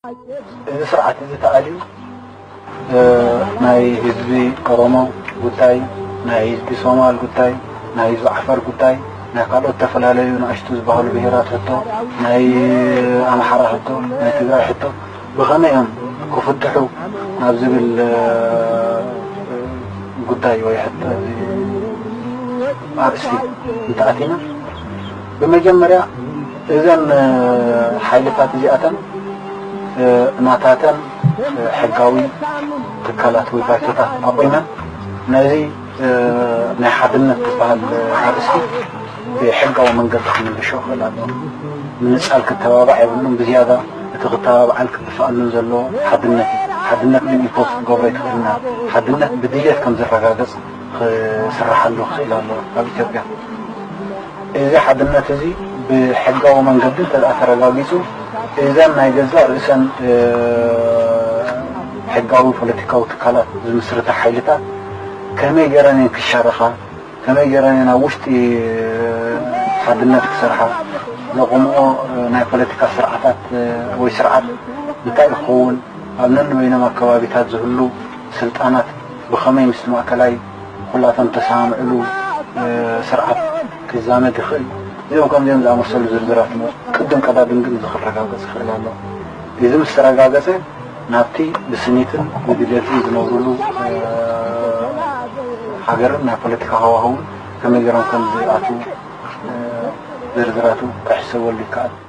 እዚ ስርዓት እዚ ተኣልዩ ናይ ህዝቢ ኦሮሞ ጉዳይ፣ ናይ ህዝቢ ሶማል ጉዳይ፣ ናይ ህዝቢ ዓፈር ጉዳይ፣ ናይ ካልኦት ዝተፈላለዩ ንኣሽቱ ዝበሃሉ ብሄራት ሕቶ፣ ናይ ኣምሓራ ሕቶ፣ ናይ ትግራይ ሕቶ ብኸመይ እዮም ክፍትሑ ናብ ዝብል ጉዳይ ወይ ሕቶ ኣርእስቲ እንተኣቲና፣ ብመጀመርያ እዘን ሓይልታት እዚኣተን ናታተን ሕጋዊ ትካላት ወይ ባይቶታት ኣቑመን ነዚ ናይ ሓድነት ዝበሃል ኣርእስቲ ብሕጋዊ መንገዲ ክምልሾ ክእል ኣለዎ። ምንጻል ክተባባዕ የብሉን። ብዝያዳ እቲ ክተባብዓን ክድፍኣሉን ዘለዎ ሓድነት እዩ። ሓድነት ግን ኢምፖዝ ክትገብሮ ኣይትኽእልና። ሓድነት ብድልየት ከም ዝረጋገጽ ክስርሓሉ ክኽእል ኣለዎ ኣብ ኢትዮጵያ። እዚ ሓድነት እዚ ብሕጋዊ መንገዲ እንተ ደኣ ተረጋጊጹ፣ እዘን ናይ ገዛእ ርእሰን ሕጋዊ ፖለቲካዊ ትካላት ዝምስርታ ሓይልታት ከመይ ገይረን እየን ክሻረኻ፣ ከመይ ገይረን እየን ኣብ ውሽጢ ሓድነት ክሰርሓ፣ ዘቑምኦ ናይ ፖለቲካ ስርዓታት ወይ ስርዓት እንታይ ክኸውን፣ ኣብ ነንበይኖም ኣከባቢታት ዝህሉ ስልጣናት ብኸመይ ምስ ማእከላይ ኩላቶም ተሰማምዕሉ ስርዓት ክዛመድ ይኽእል። እዚኦም ከምዚኦም ዝኣመሰሉ ዝርዝራት እሞ ቅድም ቀዳድም ግን እዚ ክረጋገጽ ይኽእል ኣሎ። እዚ ምስ ተረጋገጸ ናብቲ ብስኒትን ብድሌትን ዝነብሩሉ ሃገርን ናይ ፖለቲካ ሃዋህውን ከመይ ገይሮም ከም ዝኣትዉ ዝርዝራቱ ክሕሰበሉ ይከኣል።